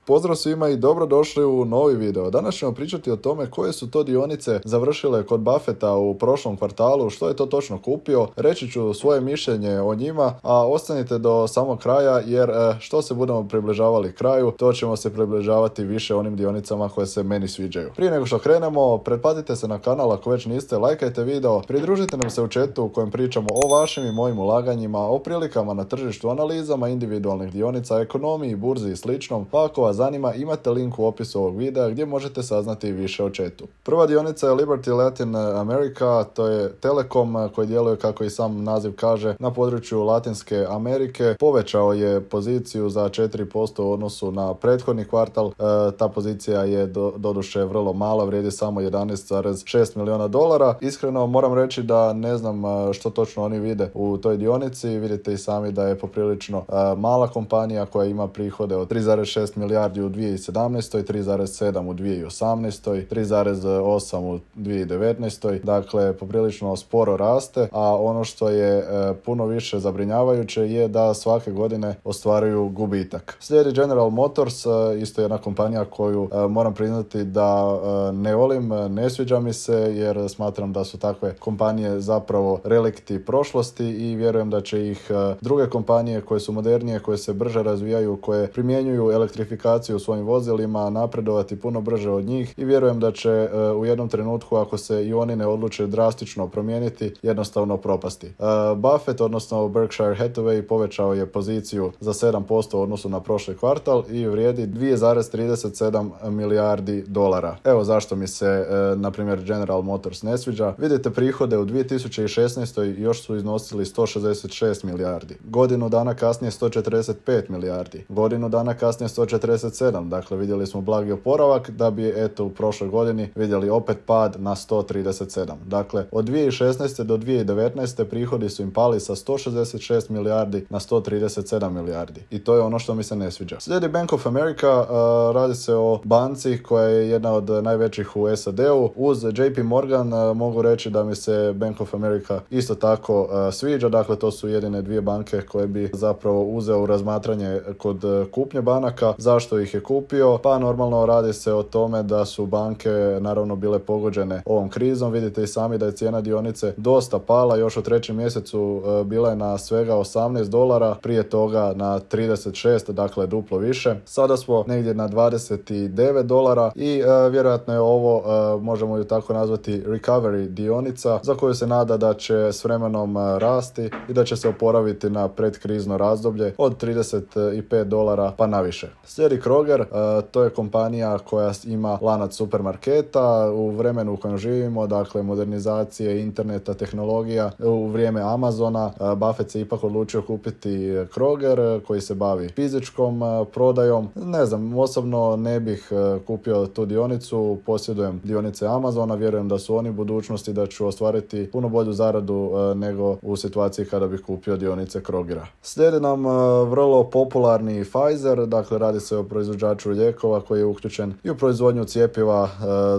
Pozdrav svima i dobrodošli u novi video. Danas ćemo pričati o tome koje su to dionice završile kod Buffetta u prošlom kvartalu, što je to točno kupio, reći ću svoje mišljenje o njima, a ostanite do samog kraja jer što se budemo približavali kraju, to ćemo se približavati više onim dionicama koje se meni sviđaju. Prije nego što krenemo, pretplatite se na kanal ako već niste, lajkajte video, pridružite nam se u chatu u kojem pričamo o vašim i mojim ulaganjima, o prilikama na tržištu, analizama individualnih dionica, ekonomiji, burzi i sličnom, pa ako vas zanima, imate link u opisu ovog videa gdje možete saznati više o chatu. Prva dionica je Liberty Latin America, to je Telekom koji djeluje, kako i sam naziv kaže, na području Latinske Amerike. Povećao je poziciju za 4% u odnosu na prethodni kvartal. Ta pozicija je doduše vrlo mala, vrijedi samo 11,6 milijuna dolara. Iskreno moram reći da ne znam što točno oni vide u toj dionici. Vidite i sami da je poprilično mala kompanija koja ima prihode od 3,6 milijardi u 2017. 3,7 u 2018. 3,8 u 2019. Dakle, poprilično sporo raste, a ono što je puno više zabrinjavajuće je da svake godine ostvaruju gubitak. Slijedi General Motors, isto jedna kompanija koju moram priznati da ne volim, ne sviđa mi se jer smatram da su takve kompanije zapravo relikti prošlosti i vjerujem da će ih druge kompanije koje su modernije, koje se brže razvijaju, koje primjenjuju elektrifikaciju u svojim vozilima napredovati puno brže od njih i vjerujem da će u jednom trenutku, ako se i oni ne odluče drastično promijeniti, jednostavno propasti. Buffett, odnosno Berkshire Hathaway, povećao je poziciju za 7% u odnosu na prošli kvartal i vrijedi 2,37 milijardi dolara. Evo zašto mi se, na primjer, General Motors ne sviđa. Vidite, prihode u 2016. još su iznosili 166 milijardi. Godinu dana kasnije 145 milijardi. Godinu dana kasnije 147. Dakle, vidjeli smo blagi oporavak da bi u prošloj godini vidjeli opet pad na 137. Dakle, od 2016. do 2019. prihodi su im pali sa 166 milijardi na 137 milijardi. I to je ono što mi se ne sviđa. Slijedi Bank of America, radi se o banci koja je jedna od najvećih u SAD-u. Uz JP Morgan mogu reći da mi se Bank of America isto tako sviđa. Dakle, to su jedine dvije banke koje bi zapravo uzeo u razmatranje kod kupnje banaka. Zašto ih je kupio? Pa normalno radi se o tome da su banke naravno bile pogođene ovom krizom. Vidite i sami da je cijena dionice dosta pala. Još u trećem mjesecu bila je na svega $18, prije toga na 36, dakle duplo više. Sada smo negdje na $29 i vjerojatno je ovo, možemo ju tako nazvati, recovery dionica za koju se nada da će s vremenom rasti i da će se oporaviti na predkrizno razdoblje od $35 pa naviše. Slijedi Kroger, to je kompanija koja ima lanac supermarketa u vremenu u kojem živimo, dakle modernizacije interneta, tehnologija u vrijeme Amazona. Buffett se ipak odlučio kupiti Kroger koji se bavi fizičkom prodajom. Ne znam, osobno ne bih kupio tu dionicu, posjedujem dionice Amazona, vjerujem da su oni budućnosti, da ću ostvariti puno bolju zaradu nego u situaciji kada bih kupio dionice Krogera. Slijedi nam vrlo popularni Pfizer, dakle radi se o proizvođaču lijekova koji je uključen i u proizvodnju cjepiva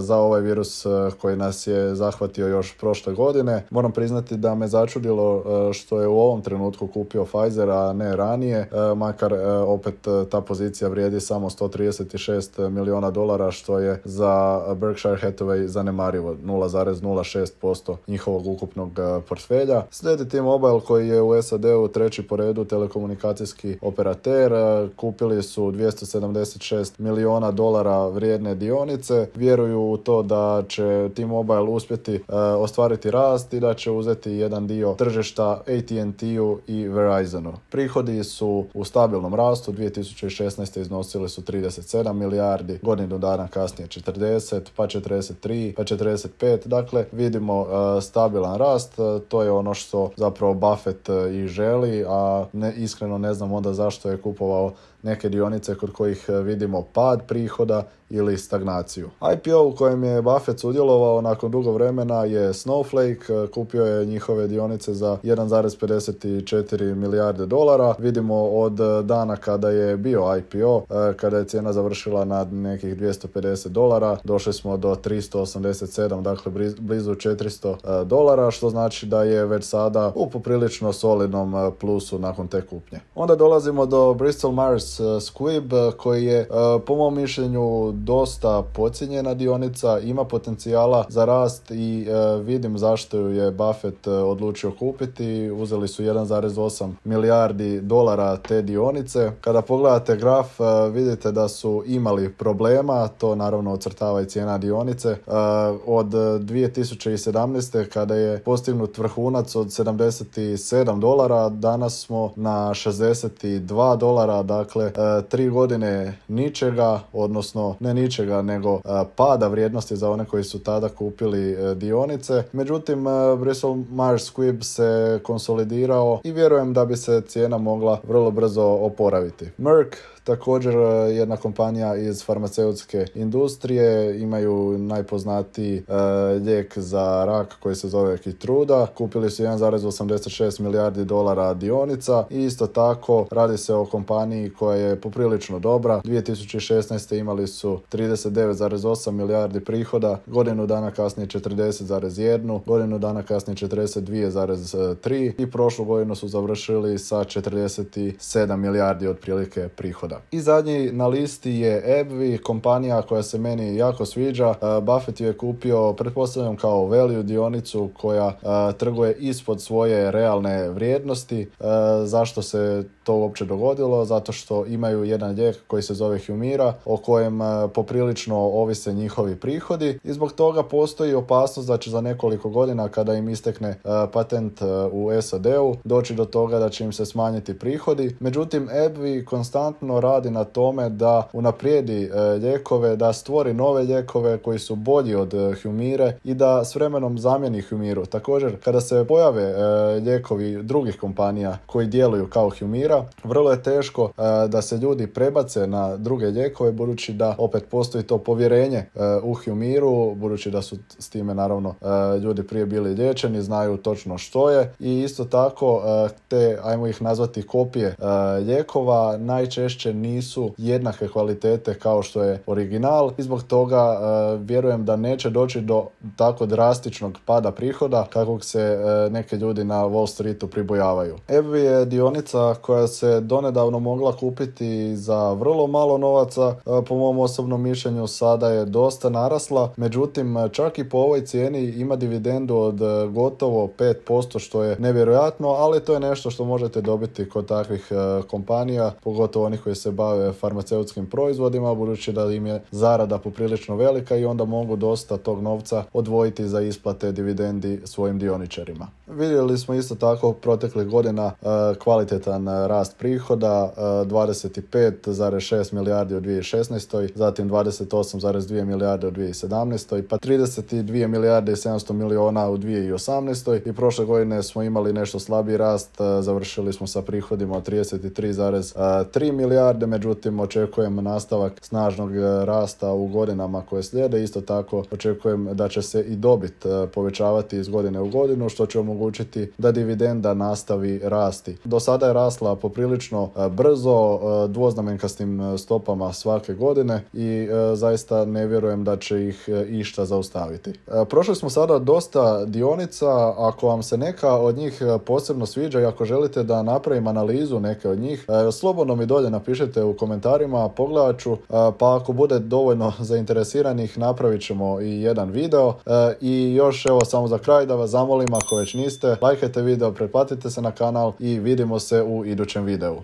za ovaj virus koji nas je zahvatio još prošle godine. Moram priznati da me začudilo što je u ovom trenutku kupio Pfizer, a ne ranije, makar opet ta pozicija vrijedi samo $136 milijuna, što je za Berkshire Hathaway zanemarivo, 0,06% njihovog ukupnog portfelja. Slijedi T-Mobile koji je u SAD-u treći po redu telekomunikacijski operater. Kupili su $276 milijuna vrijedne dionice. Vjeruju u to da će T-Mobile uspjeti ostvariti rast i da će uzeti jedan dio tržišta AT&T-u i Verizonu. Prihodi su u stabilnom rastu, 2016. iznosili su 37 milijardi, godinu dana kasnije 40, pa 43, pa 45. Dakle, vidimo stabilan rast, to je ono što zapravo Buffett i želi, a iskreno ne znam onda zašto je kupovao neke dionice kod kojih vidimo pad prihoda ili stagnaciju. IPO u kojem je Buffett sudjelovao nakon dugo vremena je Snowflake, kupio je njihove dionice za 1,54 milijarde dolara. Vidimo od dana kada je bio IPO, kada je cijena završila na nekih 250 dolara, došli smo do 387, dakle blizu 400 dolara, što znači da je već sada u poprilično solidnom plusu nakon te kupnje. Onda dolazimo do Bristol Myers Squibb, koji je po mom mišljenju dosta podcijenjena dionica, ima potencijala za rast i vidim zašto ju je Buffett odlučio kupiti. Uzeli su 1,8 milijardi dolara te dionice. Kada pogledate graf, vidite da su imali problema, to naravno ocrtava i cijena dionice. Od 2017. kada je postignut vrhunac od 77 dolara, danas smo na 62 dolara, dakle 3 godine ničega, odnosno ne ničega, nego pada vrijednosti za one koji su tada kupili dionice. Međutim, Bristol Myers Squibb se konsolidirao i vjerujem da bi se cijena mogla vrlo brzo oporaviti. Merck, također jedna kompanija iz farmaceutske industrije, imaju najpoznatiji lijek za rak koji se zove Keytruda. Kupili su 1,86 milijardi dolara dionica i isto tako radi se o kompaniji koja je poprilično dobra. 2016. imali su 39,8 milijardi prihoda, godinu dana kasnije 40,1, godinu dana kasnije 42,3 i prošlu godinu su završili sa 47 milijardi otprilike prihoda. I zadnji na listi je AbbVie, kompanija koja se meni jako sviđa. Buffett ju je kupio, pretpostavljam, kao value dionicu koja trguje ispod svoje realne vrijednosti. Zašto se to uopće dogodilo? Zato što imaju jedan lijek koji se zove Humira, o kojem poprilično ovise njihovi prihodi i zbog toga postoji opasnost da će za nekoliko godina, kada im istekne patent u SAD-u, doći do toga da će im se smanjiti prihodi. Međutim, AbbVie konstantno radi na tome da unaprijedi lijekove, da stvori nove lijekove koji su bolji od Humire i da s vremenom zamijeni Humiru. Također, kada se pojave lijekovi drugih kompanija koji djeluju kao Humira, vrlo je teško da se ljudi prebace na druge lijekove, budući da opet postoji to povjerenje u Humiru, budući da su s time naravno ljudi prije bili liječeni, znaju točno što je i isto tako te, ajmo ih nazvati, kopije lijekova najčešće nisu jednake kvalitete kao što je original i zbog toga vjerujem da neće doći do tako drastičnog pada prihoda kakvog se neke ljudi na Wall Streetu pribojavaju. AbbVie je dionica koja se donedavno mogla kupiti za vrlo malo novaca, po mom osobnom mišljenju sada je dosta narasla, međutim čak i po ovoj cijeni ima dividendu od gotovo 5%, što je nevjerojatno, ali to je nešto što možete dobiti kod takvih kompanija, pogotovo onih koji se bave farmaceutskim proizvodima, budući da im je zarada poprilično velika i onda mogu dosta tog novca odvojiti za isplate dividendi svojim dioničarima. Vidjeli smo isto tako proteklih godina kvalitetan rast prihoda, 25,6 milijardi u 2016. zatim 28,2 milijarde u 2017. pa 32 milijarde i 700 miliona u 2018. i prošle godine smo imali nešto slabiji rast, završili smo sa prihodima od 33,3 milijarde, međutim očekujem nastavak snažnog rasta u godinama koje slijede. Isto tako očekujem da će se i dobit povećavati iz godine u godinu, što će omogućiti da dividenda nastavi rasti. Do sada je rasla poprilično brzo, dvoznamenkastim stopama svake godine i zaista ne vjerujem da će ih išta zaustaviti. Prošli smo sada dosta dionica, ako vam se neka od njih posebno sviđa i ako želite da napravim analizu neke od njih, slobodno mi dolje napišite u komentarima, pogledat ću, pa ako bude dovoljno zainteresiranih napravit ćemo i jedan video. I još evo samo za kraj da vas zamolim, ako već niste, lajkajte video, pretplatite se na kanal i vidimo se u idućem videu.